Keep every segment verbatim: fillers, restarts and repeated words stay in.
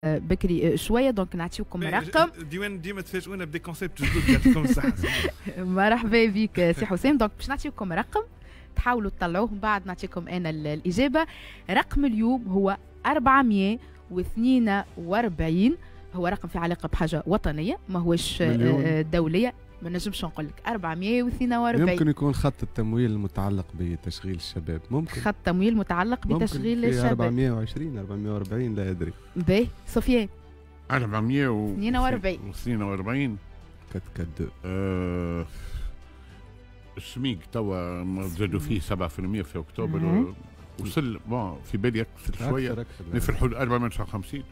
بكري شوية، donc نعطيكم رقم. ديوان ديما تفاجئونا ب des concepts جدد، يعطيكم الصحه. مرحبا بك سي حسام. donc باش نعطيكم رقم تحاولوا تطلعوه، من بعد نعطيكم انا الاجابه. رقم اليوم هو أربعمية واثنين وأربعين، هو رقم في علاقة بحاجة وطنيه، ما هوش دوليه. ما نجمش نقول لك أربعمية واثنين وأربعين. يمكن يكون خط التمويل المتعلق بتشغيل الشباب، ممكن خط تمويل متعلق بتشغيل الشباب أربعمية وعشرين أربعمية وأربعين، لا ادري. باهي سفيان، أربعمية واثنين وأربعين واثنين وأربعين quatre quatre deux. آه السميك توا زادوا فيه سبعة بالمية في اكتوبر، وصل bon في بالي اكثر شويه، في الحدود أربعمية وتسعة وخمسين،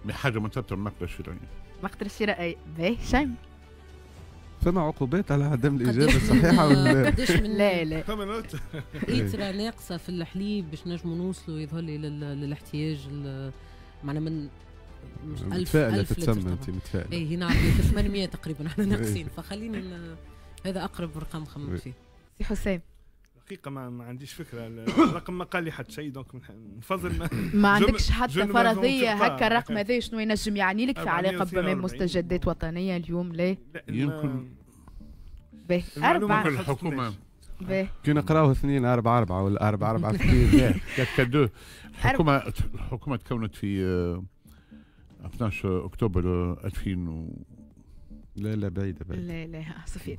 mais حاجة مرتبطة بالمقدره الشرائيه. المقدرة الشرائيه. باهي شيم، فما عقوبات على عدم الاجابة الصحيحة ولا؟ قداش من لا لا فما note لتر ناقصه في الحليب باش نجموا نوصلوا يظهر لي للاحتياج، معنا من مش ألف ألف تتسمى انت متفائلة. اي نعم، ثمانمية تقريبا احنا ناقصين، فخليني هذا اقرب رقم خممت فيه. سي حسام، الحقيقة ما, ما عنديش فكره، الرقم ما قال لي حتى شيء، donc نفضل ما, ما عندكش حتى فرضية هكا الرقم هذا شنو ينجم يعني لك في علاقة بمستجدات وطنية اليوم؟ لا يمكن باهي أربعة الحكومة باهي كي نقراوه اثنين أربعة أربعة ولا أربعة أربعة اثنين. لا quatre deux. الحكومة الحكومة تكونت في اثناش أكتوبر ألفين و لا لا بعيدة بعيدة. لا لا صفي.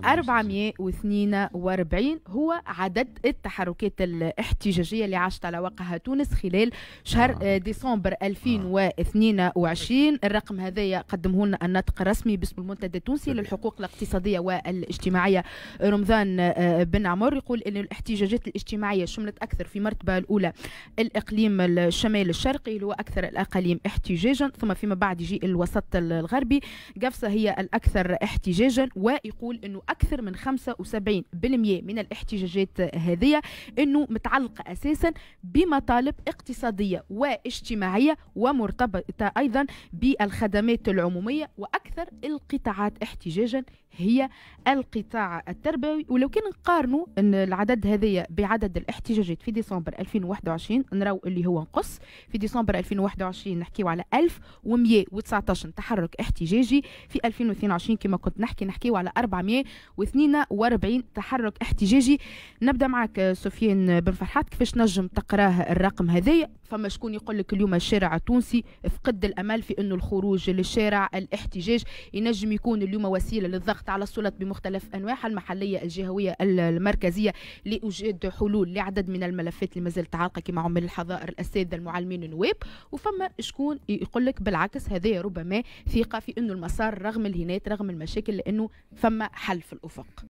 أربعمية واثنين وأربعين هو عدد التحركات الاحتجاجية اللي عاشت على وقعها تونس خلال شهر آه. ديسمبر ألفين واثنين وعشرين. الرقم هذايا قدمه لنا الناطق الرسمي باسم المنتدى التونسي للحقوق الاقتصادية والاجتماعية رمضان بن عمر، يقول أن الاحتجاجات الاجتماعية شملت أكثر في مرتبة الأولى الإقليم الشمال الشرقي اللي هو أكثر الأقاليم احتجاجا، ثم فيما بعد يجي الوسط الغربي. قفصة هي الأكثر احتجاجا، ويقول أنه أكثر من خمسة وسبعين بالمئة من الاحتجاجات هذه أنه متعلقة أساسا بمطالب اقتصادية واجتماعية ومرتبطة أيضا بالخدمات العمومية، وأكثر القطاعات احتجاجا هي القطاع التربوي. ولو كان نقارنوا أن العدد هذايا بعدد الاحتجاجات في ديسمبر ألفين وواحد وعشرين نراو اللي هو نقص. في ديسمبر ألفين وواحد وعشرين نحكيو على ألف ومية وتسعطاش تحرك احتجاجي، في ألفين واثنين وعشرين كما كنت نحكي نحكيو على أربعمية واثنين وأربعين تحرك احتجاجي. نبدا معك سفيان بن فرحات، كيفاش نجم تقراه الرقم هذايا؟ فما شكون يقول لك اليوم الشارع التونسي فقد الامل في انه الخروج للشارع، الاحتجاج ينجم يكون اليوم وسيلة للضغط على السلطات بمختلف انواعها المحلية الجهوية المركزية لايجاد حلول لعدد من الملفات اللي مازالت عالقة كما عمال الحظائر، الاساتذه، المعلمين، النواب. وفما شكون يقول لك بالعكس هذا ربما ثقة في انه المسار رغم الهنات رغم المشاكل لانه فما حل في الافق.